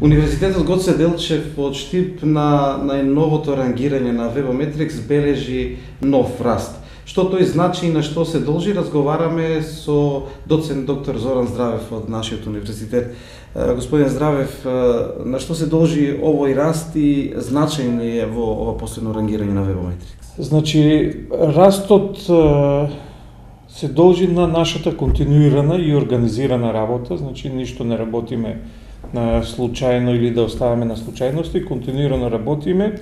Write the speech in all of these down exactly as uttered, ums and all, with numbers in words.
Универзитетот Гоце Делчев од Штип на најновото рангирање на Webometrics бележи нов раст. Што тој значи и на што се должи, разговараме со доцент доктор Зоран Здравев од нашиот универзитет. Господин Здравев, на што се должи овој раст и значајен ли е во ова последно рангирање на Webometrics? Значи, растот се должи на нашата континуирана и организирана работа, значи ништо не работиме на случајно или да оставаме на случајности, континуирано работиме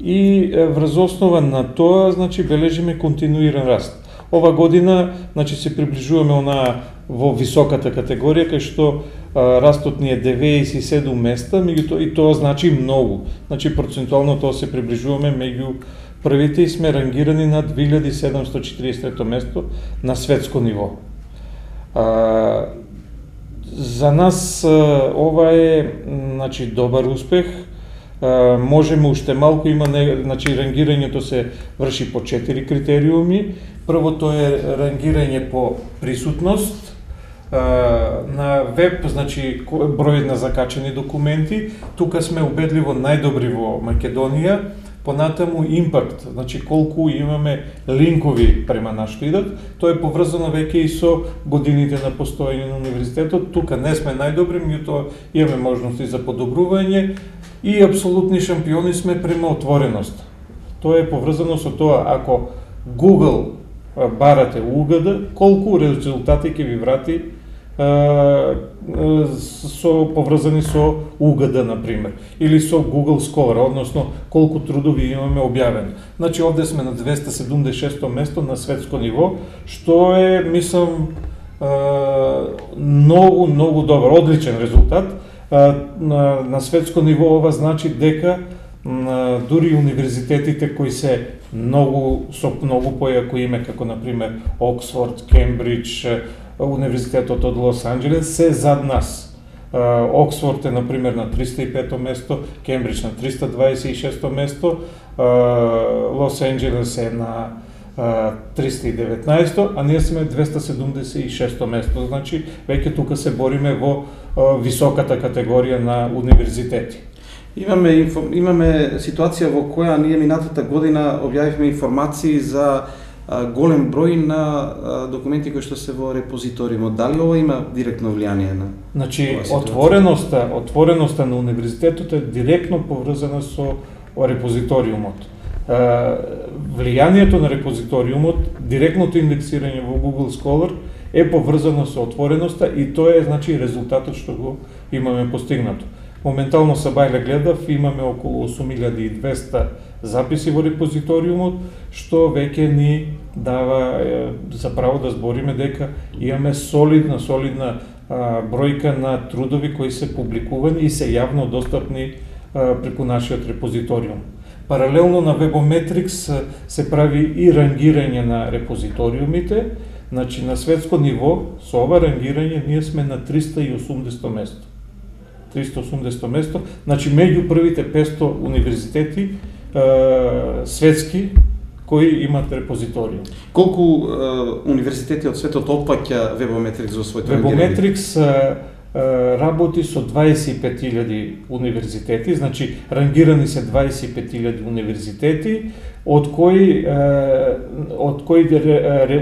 и врз основа на тоа, значи, бележиме континуиран раст. Ова година, значи, се приближуваме она во високата категорија, кај што а, растот ни е деветдесет и седум места, меѓутоа и тоа значи многу. Значи, процентуално тоа се приближуваме меѓу првите и сме рангирани на две илјади седумстотини четиридесет и трето место на светско ниво. А, за нас а, ова е, значи, добар успех. А, можеме уште малку, има не, значи, рангирањето се врши по четири критериуми. Првото е рангирање по присутност а, на веб, значи број на закачени документи. Тука сме убедливо најдобри во Македонија. Понатаму импакт, значи колку имаме линкови према на што идат, тоа е поврзано веќе и со годините на постоење на универзитетот. Тука не сме најдобри, меѓутоа имаме можности за подобрување и апсолутни шампиони сме према отвореност. Тоа е поврзано со тоа, ако Google барате у УГД, колку резултати ќе ви врати со поврзани со УГД, например, или со Google Scholar, односно колку трудови имаме објавено. Значи, овде сме на двеста седумдесет и шесто место на светско ниво, што е, мислам, многу, многу добар, одличен резултат. На, на светско ниво ова значи дека дури универзитетите кои се многу со многу појако име, како например Оксфорд, Кембридж, Универзитетот од Лос Анџелес, се зад нас. Оксфорд е, например, на триста и пето место, Кембридж на триста дваесет и шесто место, Лос Анџелес е на триста и деветнаесто, а ние сме двеста седумдесет и шесто место. Значи, веќе тука се бориме во високата категорија на универзитети. Имаме, имаме ситуација во која ние минатата година објавивме информации за голем број на документи кои што се во репозиториумот. Дали ова има директно влијание на? Значи, отвореноста, отвореноста на универзитетот е директно поврзана со репозиториумот. Влијанието на репозиториумот, директното индексирање во Google Scholar е поврзано со отвореноста и тоа е, значи, резултатот што го имаме постигнато. Моментално Сабајле гледав, имаме околу осум илјади и двесте записи во репозиториумот, што веќе ни дава е, за право да збориме дека имаме солидна, солидна а, бројка на трудови кои се публикувани и се јавно достапни а, преку нашиот репозиториум. Паралелно на Webometrics се прави и рангирање на репозиториумите, значи на светско ниво со ова рангирање ние сме на триста и осумдесето место. триста и осумдесето место, значи меѓу првите петстотини универзитети е, светски кои имаат репозиториум. Колку е, универзитети од светот опфаќа Webometrics во своето рангирање? Webometrics е, работи со дваесет и пет илјади универзитети, значи рангирани се дваесет и пет илјади универзитети, од кои од кои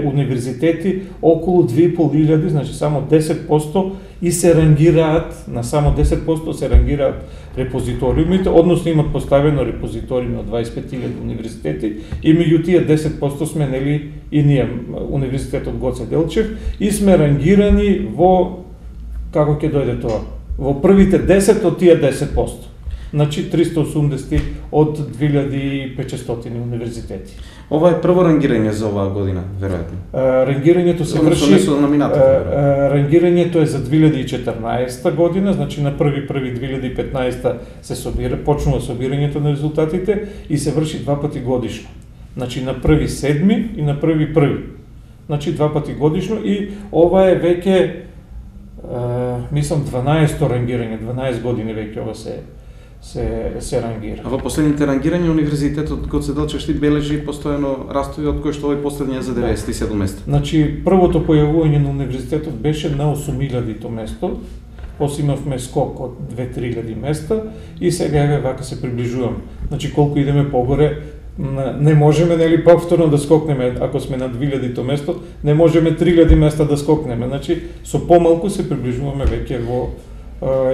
универзитети околу две и пол илјади, значи само десет проценти и се рангираат, на само десет проценти се рангираат репозиториумите, односно имат поставено репозиториуми од дваесет и пет илјади универзитети и меѓу тие десет проценти сме нели и ние, Универзитетот Гоце Делчев, и сме рангирани во, како ќе дојде тоа, во првите десет од тие десет проценти. Значи триста и осумдесет од две илјади и петстотини универзитети. Ова е прво рангирање за оваа година, веројатно. Рангирањето се врши, рангирањето е за две илјади и четрнаесета година, значи на први први две илјади и петнаесета се собира, почнува собирањето на резултатите и се врши два пати годишно. Значи на први седми и на први први. Значи два пати годишно и ова е веќе Uh, мислам дванаесто рангирање, дванаесет години веќе ова се се се рангира. А во последните рангирања универзитетот Гоце Делчев Штип бележи постојано растови, од кои што овој последниот за деветдесет и седум место. Значи првото појавување на универзитетот беше на осум илјадито место, после имавме скок од две-три илјади места и сега еве вака се приближуваме. Значи колку идеме погоре, не можеме нели повторно да скокнеме, ако сме на две илјади место, не можеме три илјади места да скокнеме. Значи со помалку се приближуваме веќе во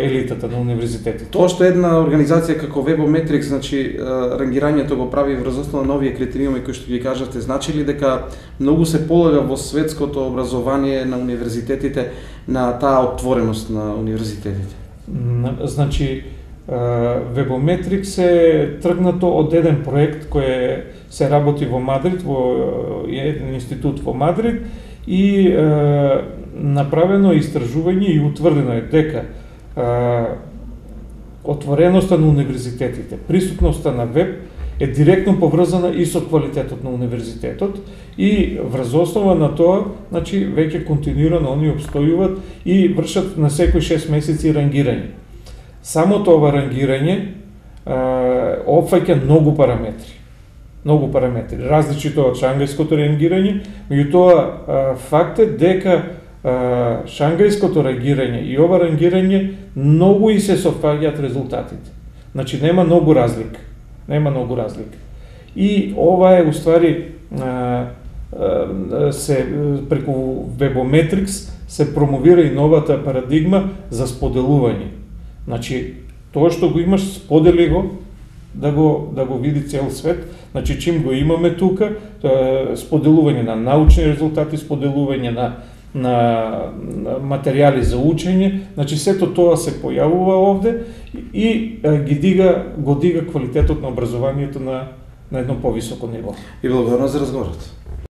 елитата на универзитетите. Тоа што една организација како Webometrics, значи рангирањето го прави врз основа на овие критериуми кои што ги кажавте, значи ли дека многу се полага во светското образование на универзитетите на таа отвореност на универзитетите? Значи Webometrics е тргнато од еден проект кој се работи во Мадрид, во еден институт во Мадрид и е, направено истражување и утврдено е дека отвореноста на универзитетите, присутноста на веб е директно поврзана и со квалитетот на универзитетот и врз основа на тоа, значи веќе континуирано они обстојуваат и вршат на секој шест месеци рангирање. Самото ова рангирање опфаќа многу параметри. Многу параметри, различито од шангајското рангирање, меѓутоа факт е дека шангајското рангирање и ова рангирање многу и се совпаѓаат резултатите. Значи нема многу разлика. Нема многу разлика. И ова е уствари се преку Webometrics се промовира и новата парадигма за споделување. Значи тоа што го имаш, сподели го да го да го види цел свет. Значи чим го имаме тука, споделување на научни резултати, споделување на на материјали за учење, значи сето тоа се појавува овде и ги дига, го дига квалитетот на образованието на, на едно повисоко ниво. И благодарам за разговорот.